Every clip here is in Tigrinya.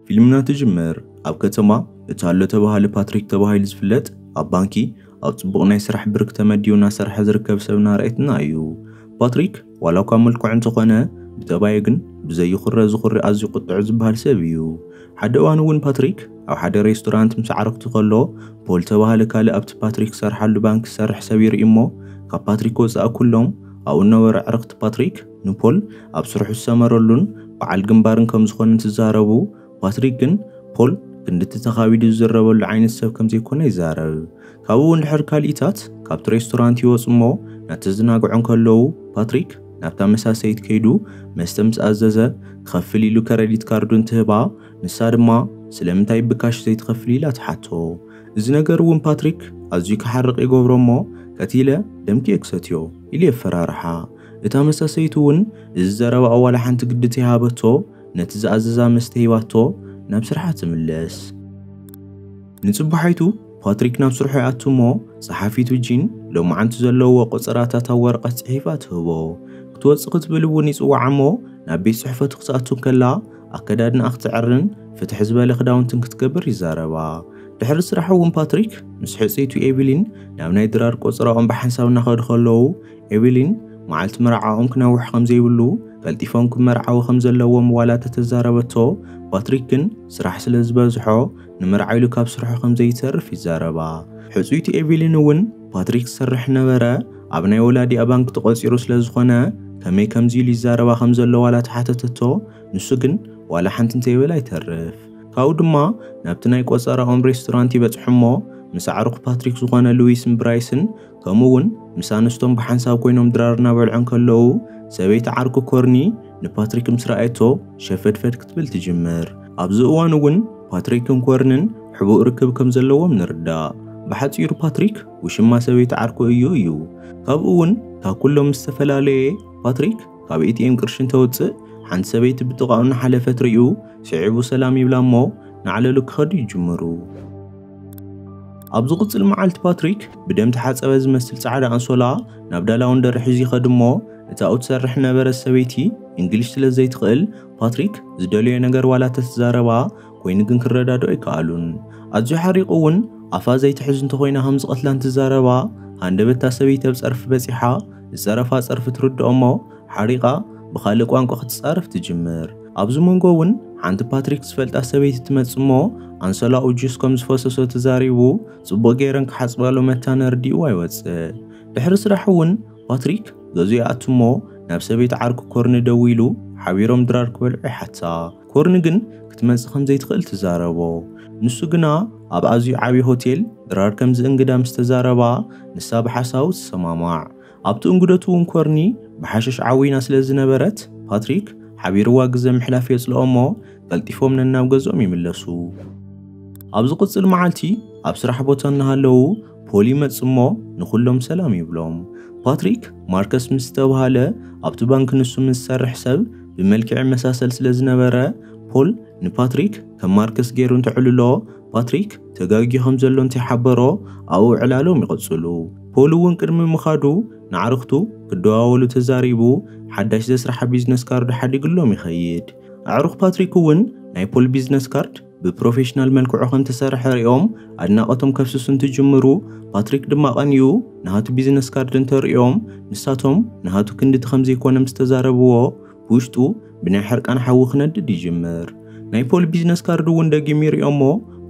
ፊልምና ትጅምር ኣብ ከተማ እቲ ኣሎ ተባሃለ ፓትሪክ ተባሂሉ ዝፍለጥ ኣብ ባንኪ ኣብ ጽቡቕ ናይ ስራሕ ብርክ ተመዲቡ እናሰርሐ ዝርከብ ሰብ እናረኣየትና እዩ። ፓትሪክ ዋላ እኳ መልክዑ እንተኾነ ብጠባዩ ግን ብዘይኹረ ዝኹሪ ኣዝዩ ቁጥዑ ዝበሃል ሰብ እዩ። ሓደ እዋን እውን ፓትሪክ ኣብ ሓደ ሬስቶራንት ምስ ኣዕርኽቱ ከሎ ፖል ተባሃለ ካልእ ኣብቲ ፓትሪክ ዝሰርሓሉ ባንክ ዝሰርሕ ሰብ ይርኢ እሞ ካብ ፓትሪክ ወፃእ ኩሎም ኣብኡ ነበሩ ኣዕርኽቲ ፓትሪክ ንፖል ኣብ ስርሑ ዝሰመረሉን በዓል ግንባርን ከም ዝኾነ እንትዛረቡ ፓትሪክ ግን ፖል ክንድቲ ተኻቢዱ ዝዝረበሉ ዓይነት ሰብ ከም ዘይኮነ ይዛረብ። ካብኡ እንድሕር ካልኢታት ካብቲ ሬስቶራንት ይወፁ እሞ እናተዘናግዑ እንከለዉ ፓትሪክ ናብታ መሳሰይት ከይዱ መስተ ምስ ኣዘዘ ክኸፍል ኢሉ ከረዲት ካርዱ እንትህባ ንሳ ድማ ስለምንታይ ብካሽ ዘይትኸፍል ኢላ ትሓቶ። እዚ ነገር እውን ፓትሪክ ኣዝዩ ክሓርቕ ይገብሮ እሞ ቀቲለ ደምኪ ክሰትዮ ኢሉ የፈራርሓ። እታ መሳሰይት እውን እዚ ዘረባ ዋላ ሓንቲ ግዲ ተይሃበቶ ነቲ ዝኣዘዛ መስተ ሂባቶ ናብ ስርሓ ትምለስ። ንጽባሓይቱ ፓትሪክ ናብ ስርሑ ይኣቱ እሞ ጸሓፊቱ ጂን ሎማዓንቲ ዘለዎ ቆጸራታት ኣብ ወረቐት ጽሒፋ ትህቦ። ክትወጽእ ክትብል እውን ይጽውዓ እሞ ናብ ቤት ጽሕፈቱ ክትኣቱ እንከላ ኣከዳድናኣ ክትዕርን ፍትሕ ዝበለ ክዳውንትን ክትገብር ይዛረባ። ድሕሪ ስራሕ እውን ፓትሪክ ምስ ሕጽይቱ ኤቪሊን ናብ ናይ ድራር ቆጸራኦም ብሓንሳብ እናኸዱ ከለዉ ኤቪሊን መዓልቲ መርዓኦም ክነውሕ ከም ዘይብሉ ቀልጢፎም ክመርዓዊ ከም ዘለዎም ዋላ ተተዛረበቶ ፓትሪክ ግን ስራሕ ስለ ዝበዝሖ ንመርዓ ኢሉ ካብ ስርሑ ከም ዘይተርፍ ይዛረባ። ሕጹይቲ ኤቪሊን እውን ፓትሪክ ዝሰርሕ ነበረ ኣብ ናይ ወላዲኣ ባንክ ተቖጺሩ ስለ ዝኾነ ከመይ ከምዚ ኢሉ ይዛረባ ከም ዘሎ ዋላ ተሓተተቶ ንሱ ግን ዋላ ሓንቲ እንተይበለ ኣይተርፍ። ካብኡ ድማ ናብቲ ናይ ቆጸራኦም ሬስቶራንት ይበጽሑ እሞ ምስ ኣዕሩኽ ፓትሪክ ዝኾነ ሉዊስን ብራይስን ከምኡ እውን ምስ ኣንስቶም ብሓንሳብ ኮይኖም ድራር እናበልዑ እንከለዉ ሰበይቲ ዓርኩ ኮርኒ ንፓትሪክ ምስ ረኣየቶ ሸፈድፈድ ክትብል ትጅምር። ኣብዚ እዋን እውን ፓትሪክን ኮርንን ሕቡእ ርክብ ከም ዘለዎም ንርዳእ። ብሓጺሩ ፓትሪክ ውሽማ ሰበይቲ ዓርኩ እዩ እዩ። ካብኡ እውን ካብ ኩሎም ዝተፈላለየ ፓትሪክ ካብ ኤቲኤም ቅርሺ እንተውፅእ ሓንቲ ሰበይቲ ብጥቓኡ እናሓለፈት ሪኡ ስዒቡ ሰላም ይብላ እሞ ናዕለሉ ክኸዱ ይጅምሩ። ኣብ ዝቕጽል መዓልቲ ፓትሪክ ብደም ተሓጸበ ዝመስል ጻዕዳ ኣንሶላ ናብ ዳላውን ደርሒ ይኸድ እሞ እታ ትሰርሕ ነበረ ሰበይቲ እንግሊሽ ስለ ዘይትኽእል ፓትሪክ ዝደልዮ ነገር ዋላ ተትዛረባ ኮይኑ ግን ክረዳድኦ ኣይከኣሉን። ኣዝዩ ሓሪቑ እውን ኣፋ ዘይትሕዝ እንተኾይና ከም ዝቐትላ እንትዛረባ ሃንደበታ ሰበይቲ ኣብ ጸርፊ በጺሓ ዝጸረፋ ጸርፊ ትርድኦ እሞ ሓሪቓ ብኻልእ ቋንቋ ክትጻረፍ ትጅምር። ኣብዚ መንጎ እውን ሓንቲ ፓትሪክ ዝፈልጣ ሰበይቲ ትመጽእ እሞ ኣንሶላኡ ጁስ ከም ዝፈሰሶ ተዛሪቡ ጽቡቕ ገይረን ክሓጽባሉ መታን ኣርዲእዋ ይወጽእ። ድሕሪ ስራሕ እውን ፓትሪክ ገዝኡ ይኣቱ እሞ ናብ ሰበይቲ ዓርኩ ኮርኒ ደዊሉ ሓቢሮም ድራር ክበልዑ ይሓታ። ኮርኒ ግን ክትመጽእ ከም ዘይትኽእል ትዛረቦ። ንሱ ግና ኣብ ኣዝዩ ዓብዪ ሆቴል ድራር ከም ዝእንግዳ ምስ ተዛረባ ንሳ ብሓሳቡ ትሰማማዕ። ኣብቲ እንግደቱ እውን ኮርኒ ብሓሽሽ ዓዊና ስለ ዝነበረት ፓትሪክ ሓቢርዋ ግዘ ምሕላፍ የጽልኦ እሞ ቀልጢፎም ነናብ ገዝኦም ይምለሱ። ኣብ ዝቕጽል መዓልቲ ኣብ ስራሕ ቦታ እናሃለዉ ፖል ይመጽእ እሞ ንኹሎም ሰላም ይብሎም። ፓትሪክ ማርከስ ምስ ዝተባሃለ ኣብቲ ባንክ ንሱ ምስ ዝሰርሕ ሰብ ብመልክዕ ይመሳሰል ስለ ዝነበረ ፖል ንፓትሪክ ከም ማርከስ ገይሩ እንተዕልሎ ፓትሪክ ተጋግዩ ከም ዘሎ እንተይሓበሮ ኣብኡ ዕላሎም ይቕጽሉ። ፖል እውን ቅድሚ ምኻዱ ንዓርኽቱ ክደዋወሉ ተዛሪቡ ሓዳሽ ዘስርሓ ቢዝነስ ካርዱ ሓዲግሎም ይኸይድ። ኣዕሩኽ ፓትሪክ እውን ናይ ፖል ቢዝነስ ካርድ ብፕሮፌሽናል መልክዑ ከም ተሰርሐ ሪኦም ኣድናቖቶም ከፍስሱ እንትጅምሩ ፓትሪክ ድማ ቀንዩ ንሃቱ ቢዝነስ ካርድ እንተሪኦም ንሳቶም ንሃቱ ክንድቲ ከም ዘይኮነ ምስ ተዛረብዎ ብውሽጡ ብናይ ሕርቃን ሓዊ ክነድድ ይጅምር። ናይ ፖል ቢዝነስ ካርድ እውን ደጊሙ ይሪኦ እሞ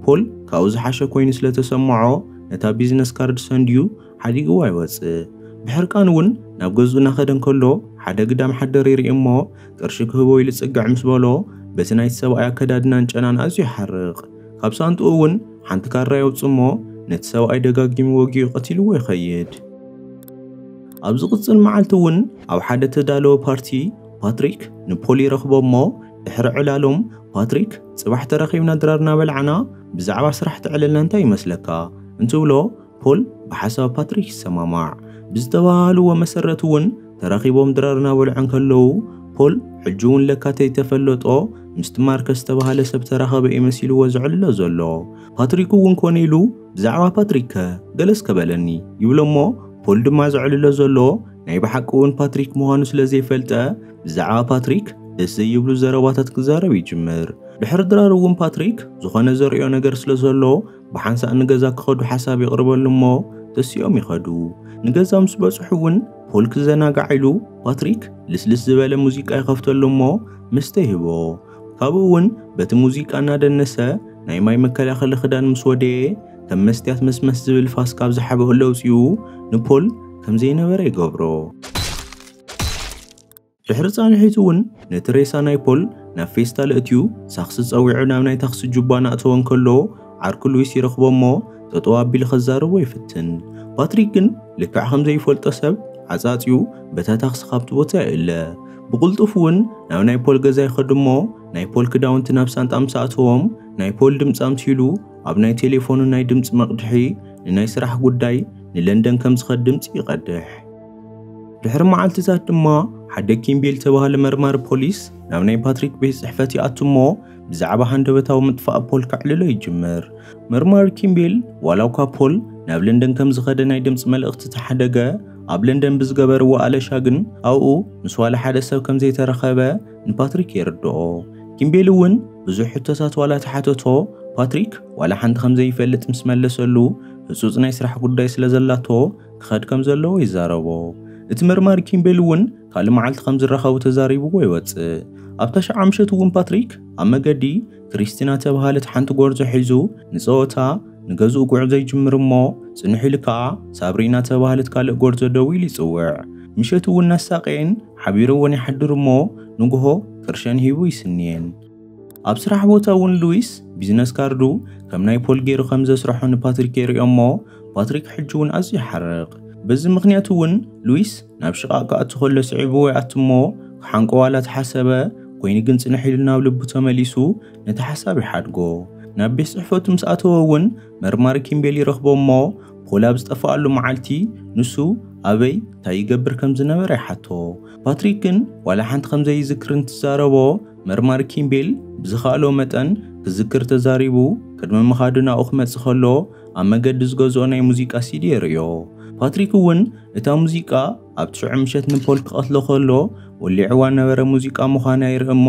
ፖል ካብኡ ዝሓሸ ኮይኑ ስለ ተሰምዖ ነታ ቢዝነስ ካርድ ሰንድዩ ሓዲግዋ ይወፅእ። ብሕርቃን እውን ናብ ገዝኡ እናኸደ እንከሎ ሓደ ግዳም ሓደር ይርኢ እሞ ቅርሺ ክህቦ ኢሉ ፅግዕ ምስ በሎ በቲ ናይቲ ሰብኣይ ኣከዳድናን ጨናን ኣዝዩ ይሓርቕ። ካብ ሳንጥኡ እውን ሓንቲ ካራ የውፅእ እሞ ነቲ ሰብኣይ ደጋጊሙ ወጊኡ ቀቲልዎ ይኸይድ። ኣብ ዝቕፅል መዓልቲ እውን ኣብ ሓደ ተዳለወ ፓርቲ ፓትሪክ ንፖል ይረኽቦ እሞ ድሕሪ ዕላሎም ፓትሪክ ፅባሕ ተራኺብና ድራር እናበላዕና ብዛዕባ ስራሕ ተዕለልና እንታይ ይመስለካ እንትብሎ ፖል ብሓሳብ ፓትሪክ ይሰማማዕ። ብዝተባሃልዎ መሰረት እውን ተራኺቦም ድራር እናበልዑ እንከለዉ ፖል ሕጂ እውን ለካ ተይተፈለጦ ምስቲ ማርከስ ዝተባሃለ ሰብ ተራኸበ እዩ መሲልዎ ዘዕልሎ ዘሎ። ፓትሪክ እውን ኮነ ኢሉ ብዛዕባ ፓትሪክ ከ ገለስ ከበለኒ ይብሎ እሞ ፖል ድማ ዘዕልሎ ዘሎ ናይ ብሓቂ እውን ፓትሪክ ምዃኑ ስለ ዘይፈልጠ ብዛዕባ ፓትሪክ ደስ ዘይብሉ ዘረባታት ክዛረብ ይጅምር። ድሕሪ ድራር እውን ፓትሪክ ዝኾነ ዘርእዮ ነገር ስለ ዘሎ፣ ብሓንሳእ ንገዛ ክኸዱ ሓሳብ ይቕርበሉ እሞ ተሲኦም ይኸዱ። ንገዛ ምስ በጽሑ እውን ፖል ክዘናጋዕ ኢሉ ፓትሪክ ልስልስ ዝበለ ሙዚቃ ይኸፍተሉ እሞ መስተ ይህቦ። ካብኡ እውን በቲ ሙዚቃ እናደነሰ ናይ ማይ መከላኸሊ ክዳን ምስ ወደየ፣ ከም መስትያት መስመስ ዝብል ፋስ ካብ ዝሓበኡ ለውፂኡ ንፖል ከም ዘይነበረ ይገብሮ። ድሕሪ ጻንሒቱ እውን ነቲ ሬሳ ናይ ፖል ናብ ፌስታል እትዩ ሳክሲ ጸዊዑ ናብ ናይ ታክሲ ጁባ ናእተወ እንከሎ፣ ዓርኩ ሉዊስ ይረኽቦ እሞ ጠጠው ኣቢሉ ከዛርቦ ይፍትን። ፓትሪክ ግን ልክዕ ከም ዘይፈልጦ ሰብ ዓጻጺዩ በታ ታክሲ ካብቲ ቦታ ይእለ። ብቕልጡፍ እውን ናብ ናይ ፖል ገዛ ይኸዱ እሞ ናይ ፖል ክዳውንቲ ናብ ሳንጣ ምስ ኣእተዎም፣ ናይ ፖል ድምፂ ኣምሲሉ ኣብ ናይ ቴሌፎኑ ናይ ድምፂ መቕድሒ ንናይ ስራሕ ጉዳይ ንለንደን ከም ዝኸድ ድምፂ ይቐድሕ። ድሕሪ መዓልትታት ድማ ሓደ ኪምቤል ዝተባህለ መርማሪ ፖሊስ ናብ ናይ ፓትሪክ ቤት ጽሕፈት ይኣቱ እሞ ብዛዕባ ሃንደበታዊ ምጥፋእ ፖል ከዕልሎ ይጅምር። መርማሪ ኪምቤል ዋላ እኳ ፖል ናብ ለንደን ከም ዝኸደ ናይ ድምፂ መልእኽቲ ተሓደገ፣ ኣብ ለንደን ብዝገበርዎ ኣለሻ ግን ኣብኡ ምስ ዋላ ሓደ ሰብ ከም ዘይተረኸበ ንፓትሪክ የርድኦ። ኪምቤል እውን ብዙሕ ሕቶታት ዋላ ተሓተቶ፣ ፓትሪክ ዋላ ሓንቲ ከም ዘይፈልጥ ምስ መለሰሉ ህጹጽ ናይ ስራሕ ጉዳይ ስለ ዘላቶ ክኸድ ከም ዘለዎ ይዛረቦ። እቲ መርማሪ ኪምቤል እውን ካልእ መዓልቲ ከም ዝራኸቡ ተዛሪብዎ ይወጽእ። ኣብ ታሽዓ ምሸት እውን ፓትሪክ ኣብ መገዲ ክሪስቲና ተባሃለት ሓንቲ ጎርዞ ሒዙ ንጸወታ ንገዝኡ ጉዕዞ ይጅምር እሞ ጽንሕ ኢሉ ከኣ ሳብሪና ተባሃለት ካልእ ጎርዞ ደው ኢሉ ይጽውዕ። ምሸት እውን እናሳቀየን ሓቢረወን ይሓድር እሞ ንግሆ ቅርሸን ሂቡ ይስንየን። ኣብ ስራሕ ቦታ እውን ሉዊስ ቢዝነስ ካርዱ ከም ናይ ፖል ገይሩ ከም ዘስርሖ ንፓትሪክ የርእዮ እሞ ፓትሪክ ሕጂ እውን ኣዝዩ ይሓርቕ። በዚ ምኽንያት እውን ሉዊስ ናብ ሽቓቕ ክኣቱ ከሎ ስዒብዎ ይኣቱ እሞ ክሓንቆ ዋላ ተሓሰበ፣ ኮይኑ ግን ጽንሕ ኢሉ ናብ ልቡ ተመሊሱ ነቲ ሓሳብ ይሓድጎ። ናብ ቤት ጽሕፈቱ ምስ ኣተወ እውን መርማሪ ኪምቤል ይረኽቦ እሞ ፖል ኣብ ዝጠፍኣሉ መዓልቲ ንሱ ኣበይ እንታይ ይገብር ከም ዝነበረ ይሓቶ። ፓትሪክ ግን ዋላ ሓንቲ ከም ዘይዝክር እንትዛረቦ መርማሪ ኪምቤል ብዝኸኣሎ መጠን ክዝክር ተዛሪቡ ቅድሚ ምኻዱ ናብኡ ክመጽእ ከሎ ኣብ መገዲ ዝገዝኦ ናይ ሙዚቃ ሲዲ የርእዮ። ፓትሪክ እውን እታ ሙዚቃ ኣብ ትሽዑ ምሸት ንፖል ክቐትሎ ከሎ ወሊዕዋ ነበረ ሙዚቃ ምዃና ይርኢ እሞ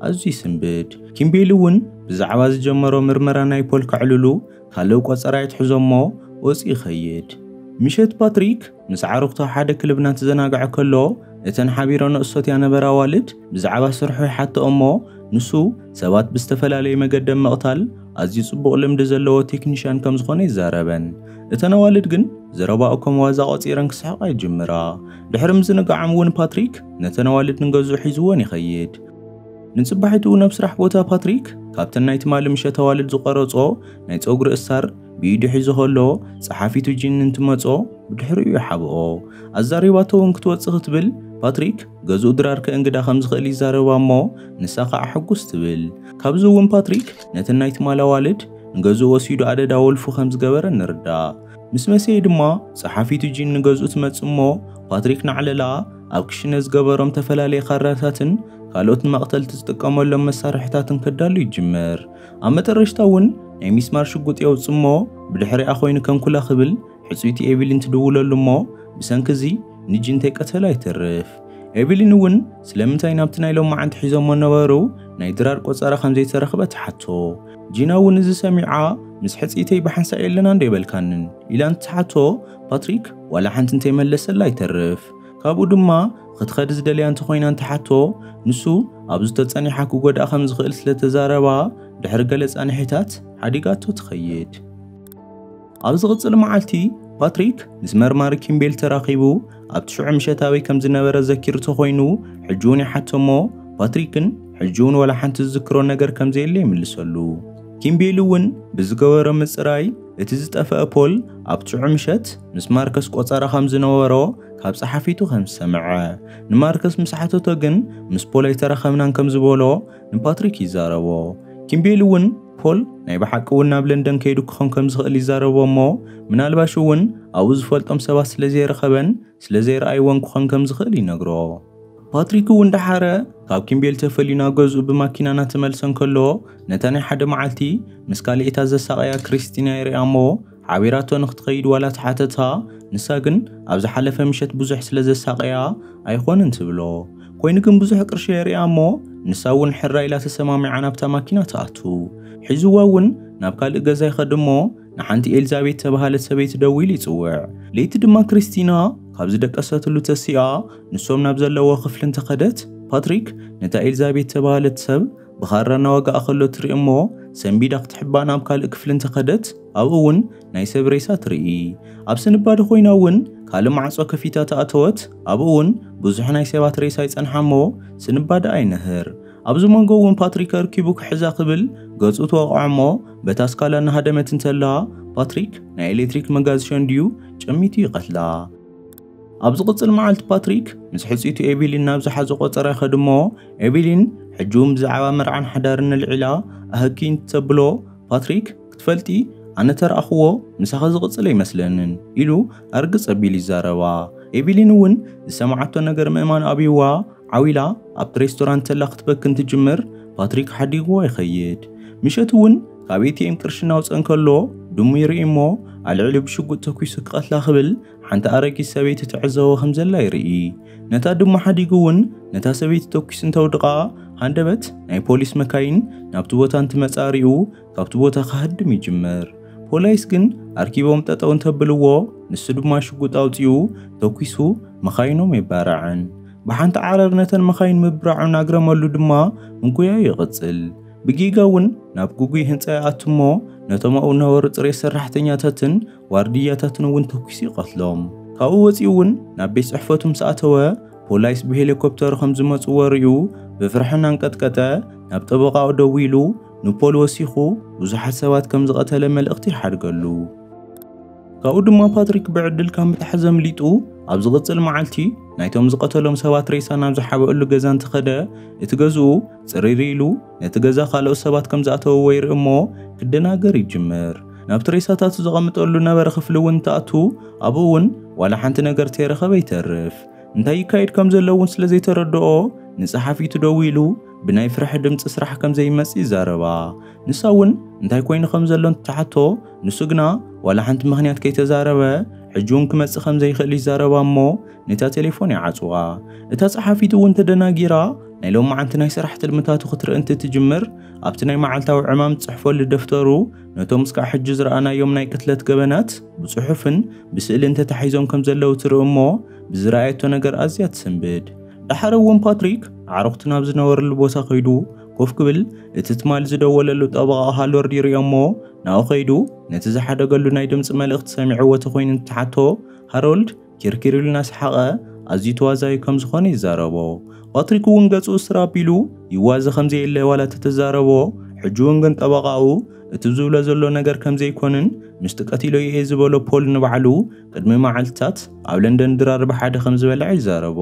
ኣዝዩ ይስንብድ። ኪምቤል እውን ብዛዕባ ዝጀመሮ ምርመራ ናይ ፖል ከዕልሉ ካልእ ቆጸራ ይትሕዞ እሞ ወፂኡ ይኸይድ። ምሸት ፓትሪክ ምስ ዓሩኽቱ ሓደ ክልብ እናተዘናግዐ ከሎ እተን ሓቢረንኦ ዝሰትያ ነበራ ኣዋልድ ብዛዕባ ስርሑ ይሓትኦ እሞ ንሱ ሰባት ብዝተፈላለየ መገዲ ምቕታል ኣዝዩ ጽቡቕ ልምዲ ዘለዎ ቴክኒሽያን ከም ዝኾነ ይዛረበን። እተን ኣዋልድ ግን ዘረባኡ ከም ዋዛ ቆጺረን ክስሕቓ ይጅምራ። ድሕሪ ምዝንጋዖም እውን ፓትሪክ ነተን ኣዋልድ ንገዝኡ ሒዝወን ይኸይድ። ንጽባሒቱ ናብ ስራሕ ቦታ ፓትሪክ ካብተን ናይ ትማሊ ምሸት ኣዋልድ ዝቐረጾ ናይ ጸጉሪ እሳር ብኢዱ ሒዙ ከሎ ጸሓፊቱ ጂን እንትመጾ ብድሕሪኡ ይሓብኦ። ኣዛሪባቶ እውን ክትወጽእ ክትብል ፓትሪክ ገዝኡ ድራር ከእንግዳ ከም ዝኽእል ይዛረባ እሞ ንሳ ከዓ ሕጉስ ትብል። ካብዚ እውን ፓትሪክ ነተን ናይ ትማሊ ኣዋልድ ንገዝኡ ወሲዱ ኣደዳ ወልፉ ከም ዝገበረ ንርዳእ። ምስ መሰየ ድማ ጸሓፊቱ ጂን ንገዝኡ ትመጽእ እሞ ፓትሪክ ንዓለላ ኣብ ክሽነ ዝገበሮም ተፈላለየ ካራታትን ካልኦት ንመቕተልቲ ዝጥቀመሎም መሳርሕታትን ከዳሉ ይጅምር። ኣብ መጠረሽታ እውን ናይ ሚስማር ሽጉጥ የውጽእ እሞ ብድሕሪኣ ኮይኑ ከም ኩላ ክብል ሕጽይቲ ኤቪሊን ትድውለሉ እሞ ብሰንኪ እዚ ንጂን እንተይቀተላ ይተርፍ። ኤቪሊን እውን ስለምንታይ ናብቲ ናይ ሎማዓንቲ ሒዞሞ ነበሩ ናይ ድራር ቆጸራ ከም ዘይተረኽበ ትሓቶ። ጂና እውን እዚ ሰሚዓ ምስ ሕጽይተይ ብሓንሳእ የለና እንዶ የበልካንን ኢላ እንትትሓቶ ፓትሪክ ዋላ ሓንቲ እንተይመለሰላ ይተርፍ። ካብኡ ድማ ክትኸድ ዝደልያ እንተኾይና እንትሓቶ ንሱ ኣብ ዝተጸኒሓ ክጎድኣ ከም ዝኽእል ስለ ተዛረባ ድሕሪ ገለ ጻንሒታት ሓዲጋቶ ትኸይድ። ኣብ ዝቕጽል መዓልቲ ፓትሪክ ምስ መርማሪ ኪምቤል ተራኺቡ ኣብ ትሽዑ ምሸት ኣበይ ከም ዝነበረ ዘኪሩ ተኾይኑ ሕጂ እውን ይሓቶ እሞ ፓትሪክን ሕጂ እውን ዋላ ሓንቲ ዝዝክሮ ነገር ከም ዘየለ ይምልሰሉ። ኪምቤል እውን ብዝገበሮ ምጽራይ እቲ ዝጠፍአ ፖል ኣብ ትሽዑ ምሸት ምስ ማርከስ ቆጸራ ከም ዝነበሮ ካብ ጸሓፊቱ ከም ዝሰምዐ ንማርከስ ምስ ሓተቶ ግን ምስ ፖል ኣይተራኸብናን ከም ዝበሎ ንፓትሪክ ይዛረቦ። ኪምቤል እውን ፖል ናይ ብሓቂ እውን ናብ ለንደን ከይዱ ክኾን ከም ዝኽእል ይዛረቦ እሞ ምናልባሽ እውን ኣብኡ ዝፈልጦም ሰባት ስለ ዘይረኸበን ስለ ዘይረኣይዎን ክኾን ከም ዝኽእል ይነግሮ። ፓትሪክ እውን ደሓረ ካብ ኪምቤል ተፈልዩ ናብ ገዝኡ ብማኪና እናተመልሰ እንከሎ ነታ ናይ ሓደ መዓልቲ ምስ ካልኤታ ዘሳቐያ ክሪስቲና ይሪኣ እሞ ሓቢራቶ ንክትኸይድ ዋላ ተሓተታ፣ ንሳ ግን ኣብ ዝሓለፈ ምሸት ብዙሕ ስለ ዘሳቐያ ኣይኾንን ትብሎ። ኮይኑ ግን ብዙሕ ቅርሺ የርእያ እሞ ንሳ እውን ሕራ ኢላ ተሰማሚዓ ናብታ ማኪና ትኣቱ። ሒዝዋ እውን ናብ ካልእ ገዛ ይኸድ እሞ ንሓንቲ ኤልዛቤት ተባሃለት ሰበይቲ ደዊሉ ይጽውዕ። ለይቲ ድማ ክሪስቲና ካብ ዝደቀሰትሉ ተሲኣ ንሶም ናብ ዘለዎ ክፍሊ እንተኸደት፣ ፓትሪክ ነታ ኤልዛቤት ተባሃለት ሰብ ብኻራ እናወግኣ ከሎ ትርኢ እሞ ሰንቢዳ ክትሕባ ናብ ካልእ ክፍሊ እንተኸደት፣ ኣብኡ እውን ናይ ሰብ ሬሳ ትርኢ። ኣብ ስንባደ ኮይና እውን ካልእ ማዕጾ ከፊታ ተኣተወት። ኣብኡ እውን ብዙሕ ናይ ሰባት ሬሳ ይጸንሓ እሞ ስንባደ ኣይነህር። ኣብዚ መንጎ እውን ፓትሪክ ኣርኪቡ ክሕዛ ክብል ገጹ ትወቕዖ እሞ በታ ስካላ እናሃደመት እንተላ ፓትሪክ ናይ ኤሌክትሪክ መጋዝ ሸንድዩ ጨሚቱ ይቐትላ። ኣብ ዝቕጽል መዓልቲ ፓትሪክ ምስ ሕጽይቱ ኤቪሊን ናብ ዝሓዞ ቆጸራ ይኸድ እሞ ኤቪሊን ሕጂ እውን ብዛዕባ መርዓን ሓዳርን ኣልዒላ ኣህኪ እንተብሎ ፓትሪክ ክትፈልጢ ኣነ ተረኣኽዎ ምሳኺ ዝቕጽል ኣይመስለንን ኢሉ ኣርግጽ ኣቢሉ ይዛረባ። ኤቪሊን እውን ዝሰማዓቶ ነገር ምእማን ኣብይዋ ዓው ኢላ ኣብቲ ሬስቶራንት ተላ ክትበኪ እንትጅምር ፓትሪክ ሓዲግዎ ይኸይድ። ምሸት እውን ካብ ኤቲኤም ቅርሺ እናውፀ እንከሎ ድሙ ይርኢ እሞ ኣልዕሉ ብሽጉጥ ተኩሱ ክቐትላ ክብል ሓንቲ ኣረጊት ሰበይቲ ትዕዘቦ ከም ዘላ ይርኢ። ነታ ድሙ ሓዲጉ እውን ነታ ሰበይቲ ተኩሱ እንተውድቓ ሃንደበት ናይ ፖሊስ መካይን ናብቲ ቦታ እንትመጻ ሪኡ ካብቲ ቦታ ክሃድም ይጅምር። ፖላይስ ግን ኣርኪቦም ጠጠው እንተብልዎ ንሱ ድማ ሽጉጥ ኣውፂኡ ተኩሱ መኻይኖም የባርዐን። ብሓንቲ ዓረር ነተን መኻይን ምብራዑ እናግረመሉ ድማ ምጉያዩ ይቕጽል። ብጌጋ እውን ናብ ግጉይ ህንጻ ይኣቱ እሞ ነቶም ኣብኡ ዝነበሩ ጽሬት ሰራሕተኛታትን ዋርድያታትን እውን ተኩሱ ይቐትሎም። ካብኡ ወጺኡ እውን ናብ ቤት ጽሕፈቱ ምስ ኣተወ ፖላይስ ብሄሊኮፕተር ከም ዝመጽዎ ሪኡ ብፍርሒ እናንቀጥቀጠ ናብ ጠበቓኡ ደዊሉ ንፖል ወሲኹ ብዙሓት ሰባት ከም ዝቐተለ መልእኽቲ ይሓድገሉ። ካብኡ ድማ ፓትሪክ ብዕድል ካብ ምትሓዝ ኣምሊጡ ኣብ ዝቕጽል መዓልቲ ናይቶም ዝቐተሎም ሰባት ሬሳ ናብ ዝሓበእሉ ገዛ እንትኸደ እቲ ገዝኡ ጽርይር ኢሉ ነቲ ገዛ ካልኦት ሰባት ከም ዝኣተውዎ ይርኢ እሞ ክደናገር ይጅምር። ናብቲ ሬሳታቱ ዘቐምጠሉ ነበረ ክፍሊ እውን እንትኣቱ ኣብኡ እውን ዋላ ሓንቲ ነገር ተይረኸበ ይተርፍ። እንታይ ይካየድ ከም ዘሎ እውን ስለ ዘይተረድኦ ንጸሓፊቱ ደዊሉ ብናይ ፍርሒ ድምጺ ስራሕ ከም ዘይመጽእ ይዛረባ። ንሳ እውን እንታይ ኮይኑ ከም ዘሎ እንትትሓቶ ንሱ ግና ዋላ ሓንቲ ምኽንያት ከይተዛረበ ሕጂ እውን ክመጽእ ከም ዘይኽእል ይዛረባ እሞ ነታ ቴሌፎን ይዓጽዋ። እታ ጸሓፊት እውን ተደናጊራ ናይ ሎማዓንቲ ናይ ስራሕ ትልምታቱ ክትርኢ እንትትጅምር ኣብቲ ናይ መዓልታዊ ዕማም ዝጽሕፈሉ ደፍተሩ ነቶም እስካዕ ሕጂ ዝረኣናዮም ናይ ቅትለት ገበናት ብጽሑፍን ብስእልን ተታሒዞም ከም ዘለዉ ትርኢ እሞ ብዝረኣየቶ ነገር ኣዝያ ትስንብድ። ደሓር እውን ፓትሪክ ኣዕሩኽቲ ናብ ዝነበርሉ ቦታ ከይዱ ኮፍ ክብል እቲ ትማሊ ዝደወለሉ ጠበቓ ሃሎርድ ይርእዮ እሞ ናብኡ ከይዱ ነቲ ዝሓደገሉ ናይ ድምጺ መልእኽቲ ሰሚዕዎ ተኾይኑ እንትሓቶ ሃሮልድ ኪርኪር ኢሉ እናሰሓቐ ኣዝዩ ተዋዛዩ ከም ዝኾነ ይዛረቦ። ፓትሪክ እውን ገጹ እስር ኣቢሉ ይዋዘ ከም ዘየለ ዋላ ተተዛረቦ ሕጂ እውን ግን ጠበቓኡ እቲ ዝብሎ ዘሎ ነገር ከም ዘይኮንን ምስቲ ቀቲሎዮ እየ ዝበሎ ፖል ንባዕሉ ቅድሚ መዓልትታት ኣብ ለንደን ድራር ብሓደ ከም ዝበልዐ ይዛረቦ።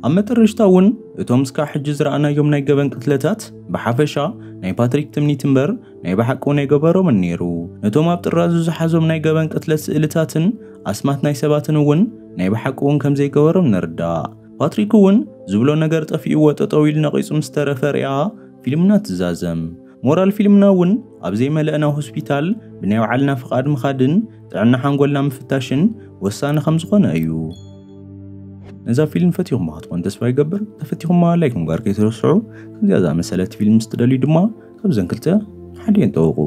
ኣብ መጠረሽታ እውን እቶም እስካዕ ሕጂ ዝረኣናዮም ናይ ገበን ቅትለታት ብሓፈሻ ናይ ፓትሪክ ትምኒት እምበር ናይ ብሓቂ እውን ኣይገበሮምን ነይሩ። ነቶም ኣብ ጥራዙ ዝሓዞም ናይ ገበን ቅትለት ስእልታትን ኣስማት ናይ ሰባትን እውን ናይ ብሓቂ እውን ከም ዘይገበሮም ንርዳእ። ፓትሪክ እውን ዝብሎ ነገር ጠፊእዎ ጠጠው ኢሉ ነቒጹ ምስ ተረፈ ሪኣ ፊልምና ትዛዘም። ሞራል ፊልምና እውን ኣብ ዘይመለእና ሆስፒታል ብናይ ባዕልና ፍቓድ ምኻድን ጥዕና ሓንጎልና ምፍታሽን ወሳኒ ከም ዝኾነ እዩ። ነዛ ፊልም ፈቲኹማ ክትኮን ተስፋ ይገብር። ተፈቲኹማ ላይክ ምግባር ከይትረስዑ። ከምዚኣ ዝኣመሰለት ፊልም ምስ ትደልዩ ድማ ካብዘን ክልተ ሓዲኤን ጠውቑ።